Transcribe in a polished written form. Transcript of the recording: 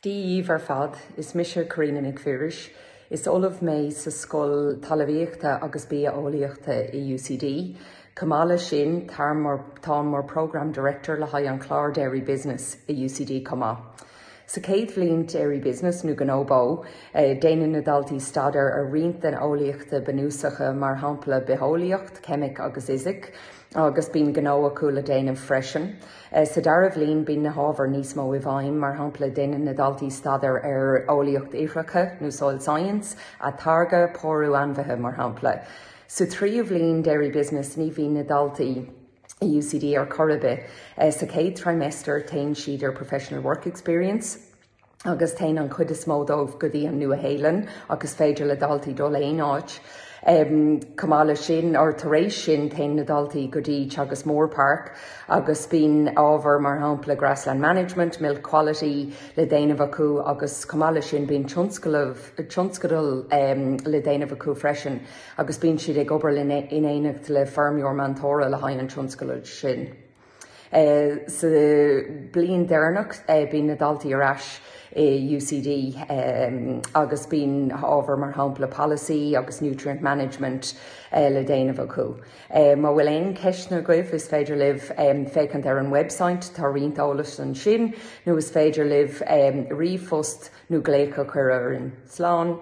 Dia dhíbh ar fad, is mise Karina Nic Phiarais. Is ollamh mé sa Scoil Talmhaíochta agus Bia-eolaíochta i UCD. Chomh maith leis sin, táim mar, táim mar Programme Director le haghaidh an chlár Dairy Business i UCD chomh maith. Sa chéad bhliain Dairy Business nó Gnó Bó, déanann na daltaí staidéar ar roinnt den eolaíochta bunúsacha mar shampla bitheolaíocht, ceimic agus fhisic, agus bíonn gnó acu le déanamh freisin. Sa dara bhliain bíonn na hábhair níos mó i bhfeidhm, mar shampla déanann na daltaí staidéar ar eolaíocht ithreacha nó soil science, atáirgeadh, pórú ainmhithe mar shampla. Sa tríú bhliain Dairy Business ní bhíonn na daltaí i UCD ar chor ar bith. Sa chéad trimester téann siad ar professional work experience, agus téann an chuid is mó dóibh go dtí an Nua-Shéalainn ach is féidir le daltaí dul aon áit. Chomh maith leis sin, or tar éis sin, téann na daltaí go dtí Teagasc Moorepark agus bíonn ábhar mar shampla grassland management, milk quality le déanamh acu agus chomh maith leis sin bíonn tionscadal le déanamh acu freisin agus bíonn siad ag obair in éineacht le feirmeoir meantóra le haghaidh an tionscadail sin. Sa bliain deireanach bíonn na daltaí ar ais i UCD agus bíonn ábhar mar shampla policy agus nutrient management le déanamh acu. Má bhfuil aon ceisteanna agaibh is féidir libh féachaint ar an website, tá roinnt eolais ansin, nó is féidir libh ríomhphost nó glaoch a chur orainn. Slán!